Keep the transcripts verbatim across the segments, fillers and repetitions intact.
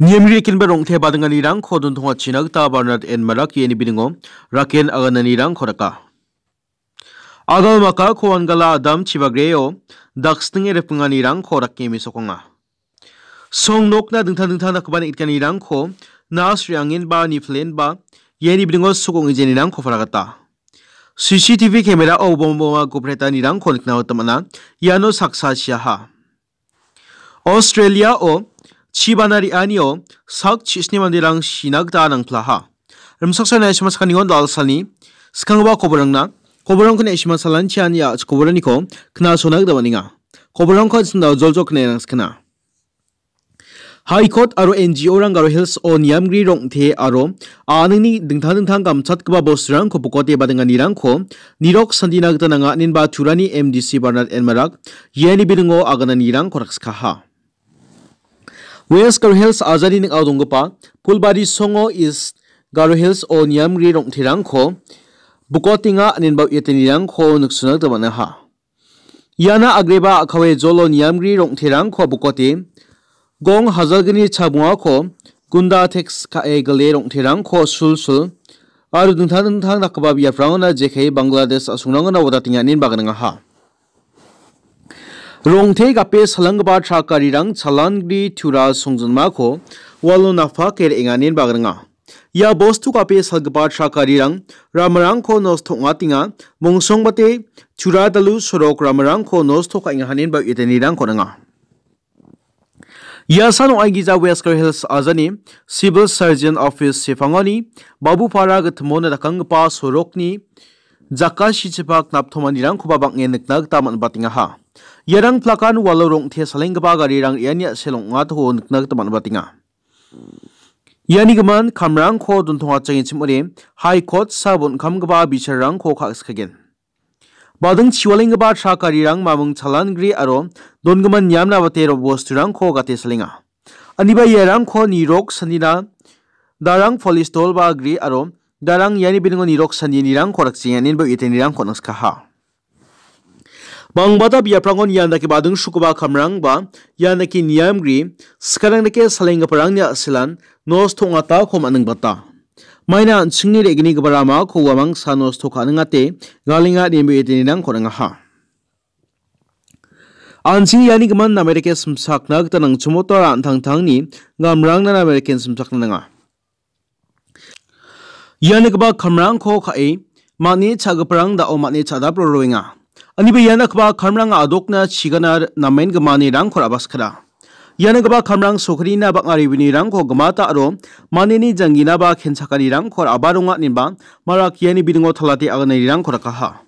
Niamri rekenba rong·te badinganirangko dontongachina gita Barnard N Marak iani bidingo raken agananirangko daka. Agal maka ko Wangala Adam chibagreo dakstinge ripinganirangko dake mesokanga. Song nokna dingtang dingtang dakgipa neng·gitanirangko nas re·angenba niflenba iani bidingo suk ong·ejanirangko palagata. C C T V camera-o bom boma gopretanirangko nikna gita man·a. Iano saksa chiaha. Australia-o chibana re·anio sak chisni manderang sina gita nangplaha. Rimsaksa naisima sakanigon dalsani skanggipa koborangna koborangko naisima salanchian ia koboraniko knasona gita man·enga. Koborangko an·ching dal joljol knae rangskana. High Court aro N G O-rang Garo Hills-o niamgri rong·te aro a·ningni dingtang dingtang gamchatgipa bosturangko bokote badinganirangko nirok sandina gita nanga, inenba Turani M D C Barnard N Marak iani bidingo agananirangko rakskaha. West Garo Hills ajani ning·ao donggipa Pulbari Songo East Garo Hills-o niamgri rong·terangko bokotenga, inenba uiatenirangko niksona gita man·aha. Iana agreba a·kawe jolo niamgri rong·terangko bokote, gong hajalgni chabongako gunda teks ka·e gile rong·terangko sulsul aro dingtang dingtang dakgipa biaprangona jekai Bangladesh a·songrangona wadatenga inenba gnangaha. Rong·te gape salanggipa trak garirang chalangri tura songjinmako walo napake re·enga inenba gnanga. Ia bostu gape salgipa trak garirang ramarangko nosto ong·atenga, mongsongbate Churadalu sorok ramarangko nosto ka·enga inenba uiatenirangko nanga. Ia san ong·aigija West Garo Hills ajani Civil Surgeon Office sepangoni Babupara gittimona dakanggipa sorokni jakasichipak naptomanirangkoba bang·en nikna gita man·batengaha. Iarang plakan walo rong·te salenggipa garirang iani a·sel ong·atako nikna gita man·batenga. Iani gimin kamrangko dontongachengchim ong·ode High Court-sa bon·kamgipa bichar-rangko ka·skagen. Bading chiwalenggipa trak garirang maming chalangri aro dongimin niamna bate ro-, bosturangko gate salenga. Aniba iarangko nirok sandina darang polis dolba gri aro darang iani biningo nirok sandirangko rakjenga inenba uiatenirangko nangskaha. Bangbata biaprangon ian dake bading sukuba kamrangba ian dake niamgri, skarang dake salenggiparangni a·selan nosto ong·atako man·ingbata. Maina an·chingni re·gnigipa ramako uamangsa nosto ka·ningate galenga inenba uiatenirangko nangkaha. An·ching iani gimin name dake simsakna gita nangchimota ra·an tangtangni gamrangna name dake simsakna nanga. Ia nikgipa kamrangko ka·e, man·e cha·giparang da·o man·e cha·dap roroenga. Aniba ia nikgipa kamrang a·dokna chigana namen gimanirangko ra·baskara. Ia nikgipa kamrang sokrina bang·a revenue-rangko gimata aro maneni jangginaba kenchakanirangko ra·baronga inenba Marak iani bidingo talate agananirangko rakaha.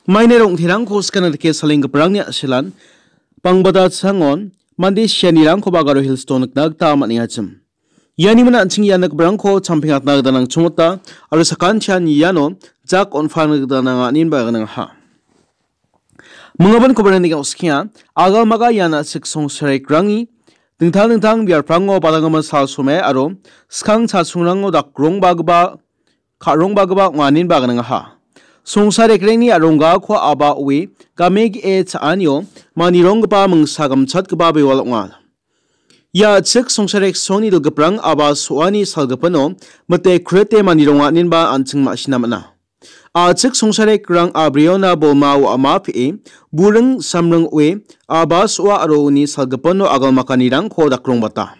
Maina rong·terangko skana dake salenggiparangni a·selan bangbata changon mande sianirangkoba Garo Hills-o nikna gita man·engachim. Iani mina an·ching ia nikgiparangko champengatna gita nangchongmota aro sakantian iano jak on·palna gita nanga inenba gnangha. Mingabon kobaraniko oskienga, agalmaga ian a·chik songsarekrangni dingtang dingtang biaprango badanggimin sal somai aro skang chasongrango dakrongbagipa ka·rongbagipa ong·a inenba gnangha. Songsarekrangni a·ronggako aba oe game ge·e cha·anio manironggipa mingsa gamchatgipa bewal ong·a. Ia a·chik songsareksongni dilgiprang aba so·ani salgipino mite krete manironga inenba an·ching ma·sina man·a. A·chik songsarekrang a·briona bolma wa·ama pe·e, buring samring oe, aba so·a aro uni salgipino agalmakanirangko dakrongbata.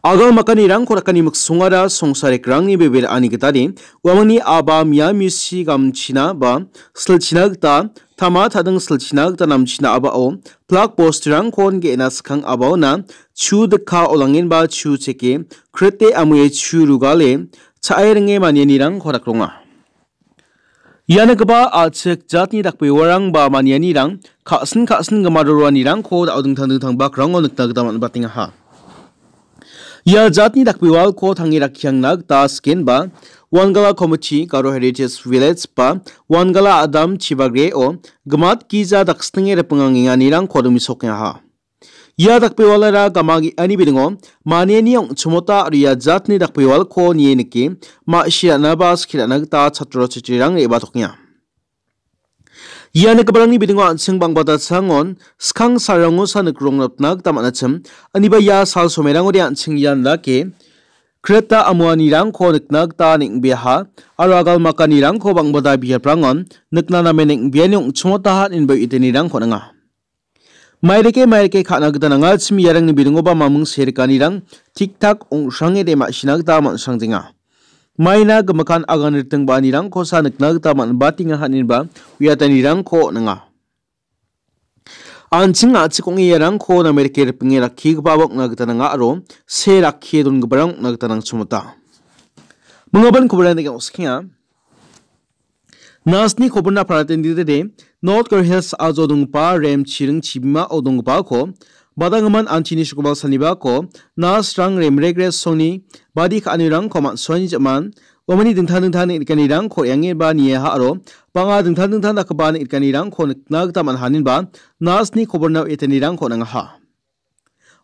Agalmakanirangko dakani miksongara songsarekrangni bebe ra·ani gitade, uamangni aba mia misi gamchina ba silchina gita tama ta·ding silchina gita namchina abao plak bosturangkon ge·na skang abaona chu dikka olangenba chu cheke krete amue chu rugale cha·e ringe manianirangko dakronga. Ia nikgipa a·chik jatni dakbewarang ba manianirang ka·sin ka·sin gimadoroanirangko da·o dingtang dingtang bakrango nikna gita man·batengaha. Ia jatni dakbewalko tange rakkiangna gita sikenba Wangala Komiti, Garo Heritage Village ba Wangala Adam chibagreo gimat gija dakstinge ripingangenganirangko dimisokengaha. Ia dakbewalara gama ge·ani bilingo maniani ong·chimota aro ia jatni dakbewalko nie nike ma·si ra·naba skie ra·na gita chatro chatrirang re·batokenga. Ia nikgiparangni bidingo an·ching bang·bata sangon skang salrangosa nikrongrapna gita man·achim. Aniba ia sal somerangode an·ching ian dake kreta amoanirangko nikna gita neng·beaha aro agalmakanirangko bang·bata biaprangon nikna namen neng·beani ong·chongotaha inba itenirangko ninga. Mairike mairike ka·na gita nangachim iarangni bidingoba maming serikanirang tik-tak ong·srangede ma·sina gita man·srangjenga. Maina gimikan agan riting ba·anirangkosa nikna gita man·batenga haninba uiatanirangko ninga. An·ching a·chik ong·e iarangko namerike ripinge rakkigipa ong·na gita nanga aro see rakkie dongiparang ong·na gita nangchimota. Mingabin koborna dake ong·skenga. Nasni koborna paratenditede North Garo Hills a·jo donggipa rem chiring chibimao donggipako badanggimin antini sokbal sanibako nasrang remregre songni badi ka·anirangko man·suani jaman uamani dingtang dingtang neng·rikanirangko re·angeba niaha aro bang·a dingtang dingtang dakgipa neng·rikanirangko nikna gita man·haninba nasni kobornao etanirangko nangaha.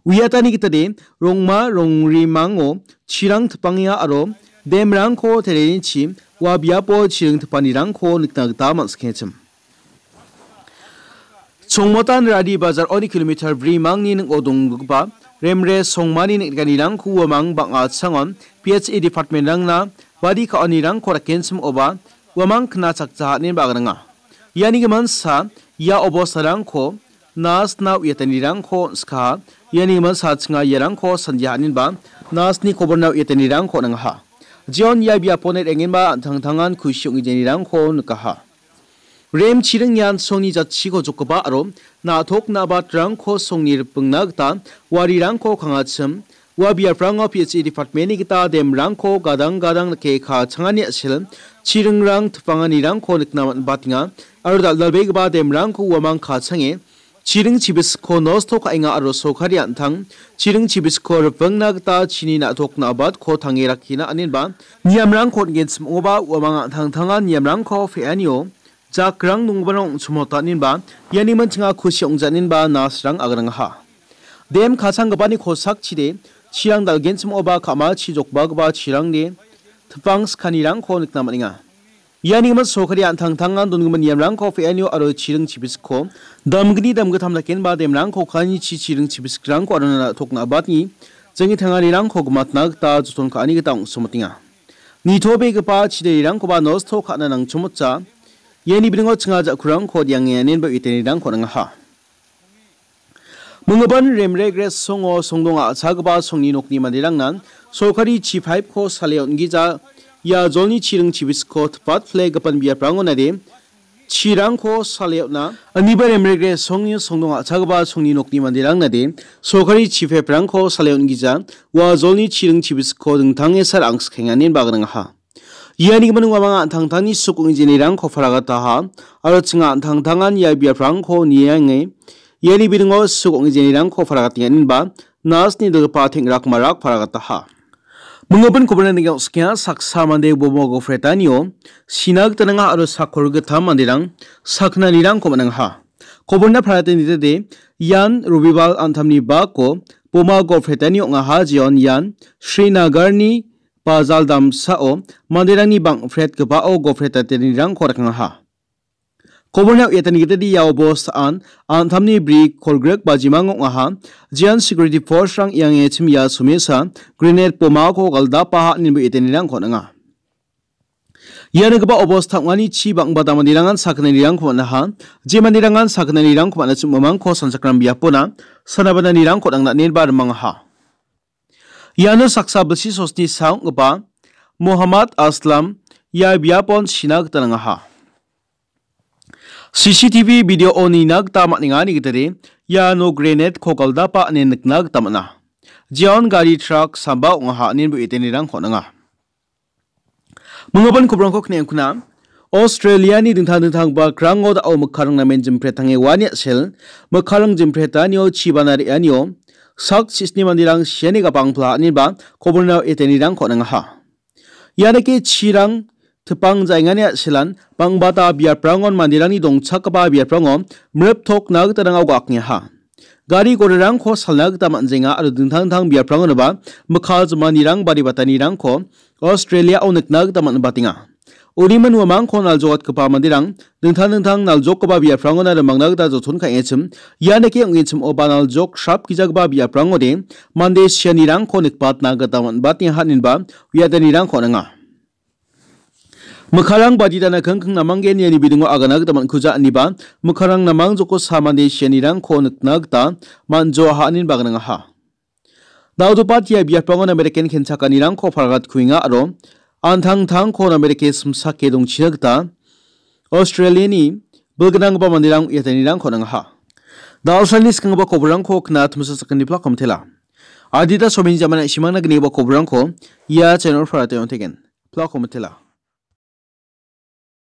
Uiatani gitade rongma rongrimango chirang tipangenga aro demrangko terenichi ua biapo chiring tipanirangko nikna gita man·sikengachim. Chongmotan Radi Bazar oni kilometer brimangni ning·o donggipa remre songmani neng·rikanirangko uamang bang·a changon P H E department-rangna badi ka·anirangko rakenchim oba uamang kna chakja hanen ba agringa. Iani giminsa ia obostarangko nasna uiatanirangko on·skaha. Iani giminsa chinga iarangko sandia haninba nasni koborna uiatanirangko on·angaha. Jeon ia biaponi re·angenba an·tangtangan kusi ong·gijanirangko nikaha. Rem chiring ian songni jatchiko jokgipa aro na·tok na·batrangko songni ripingna gita warirangko kangachim. Ua biaprango P H E department-ni gita demrangko gadang gadang dake kachangani a·sel chiringrang tipanganirangko nikna man·batenga aro dal·dalbegipa demrangko uamang kachange chiring chibisko nosto ka·enga aro sorkari an·tang chiring chibisko ripingna gita chini na·tok na·batko tange rakkina aninba niamrangko on·genchim ong·oba uamang an·tangtangan niamrangko pe·anio jakrang nonggiparang ong·chimota aninba iani mintinga kusi ong·janinba nasrang agrangaha. Dem kasanggipani kosakchide chirang dal·genchim ong·oba ka·machi jokbagipa chirangde tipang skanirangko nikna man·enga. Iani gimin sorkari an·tangtangan dongimin niamrangko pe·anio aro chiring chibisko damgni damgittam dakenba demrangko kanichi chiring chibiskrangko aro na·tok na·batni jenge tanganirangko gimatna gita joton ka·ani gita ong·somotenga. Nitobegipa chidarerangkoba nosto ka·na nangchimotja. Iani bidingo chinga ja·kurangko diangenenba uitenirangko nangaha. Minggipan remregre songo songdong a·chagipa songni nokni manderangna sorkari chipaipko sale on·gija ia jolni chiring chibisko tipatplegipan biaprango nade chirangko sale on·a. Aniba remregre songni songdong a·chagipa songni nokni manderang nade sorkari chipaiprangko sale on·gija ua jolni chiring chibisko dingtange sal angskeng aninba agrangaha. Iani gimin uamang an·tangtangni suk ong·e jenirangko paragataha aro chinga an·tangtangan ia biaprangko niange iani bidingo suk ong·e jenirangko paragatenganinba nasni dilgipa teng·rak marak paragataha. Minggipan koborna neng·o ong·skenga saksa mande bomo gofretanio sina gita nanga aro sakor gittam manderang saknanirangko man·angaha. Koborna parate nitede ian Robibal an·tamni bako boma gofretani ong·aha jeon ian Srinagarni bajal damsao manderangni bang·pret gipao gofretatenirangko rakangaha. Koborna uiatani gitade ia obostaan an·tamni bri kolgrek bajimang ong·aha. Jeon security force-rang iangechim ia somesa grenade bomako galdapaha ineba uiatanirangko on·enga. Ia nikgipa obosta ong·ani chi bang·bata manderangan sakgnanirangko man·aha. Je manderangan sakgnanirangko man·achim umangko sanchakram biapona sanabananirangko nangna nenba rimangaha. Iano saksa bilsi sosni sa ong·gipa Mohammad Aslam ia biapon sina gita nangaha. C C T V video-o nina gita man·enga nigitade iano grenade-ko galdapa ine nikna gita man·a. Jeon gari trak samba ong·aha inen bo etenirangko on·enga. Minggipan kobrangko kne·angkuna Australia-ni dingtang dingtang bakrango da·o mikkarang namen jimpretange uani a·sel, mikkarang jimpretanio chibana re·anio sak chisni manderang siani gapang pla aniba kobornao etenirangko on·engaha. Ianike chirang tipang jaengani a·selan bangbata biaprangon manderangni dongchakgipa biaprango mriptokna gita rangao ga·akngeha. Gari gorarangko salna gita man·jenga aro dingtang dingtang biaprangonoba mikka jimanirang bari batanirangko Australia-o nikna gita man·batenga. Uniman uamangko naljokatgipa manderang dingtang dingtang naljokgipa biaprangona rimangna gita joton ka·engachim, ianike ong·genchim oba naljok srapgijagipa biaprangode mande sianirangko nikbatna gita man·batenga haninba uiatanirangko on·enga. Mikkarang baditana kingking namanggen iani bidingo agana gita man·kuja aniba mikkarang namang joko sa mande sianirangko nikna gita man·joa haninba gnangaha. Dal·gipa ia biapangon American kenchakanirangko palgatkuenga aro an·tangtangko Amerike simsake dongchina gita Australiani bilgnanggipa manderang uiatanirangko on·angaha. Dal·salni skanggipa koborangko kna timsa sakgni plak komtela. Adita somin jamana simangna gnigipa koborangko ia channel-o on·tegen. Plak komtela.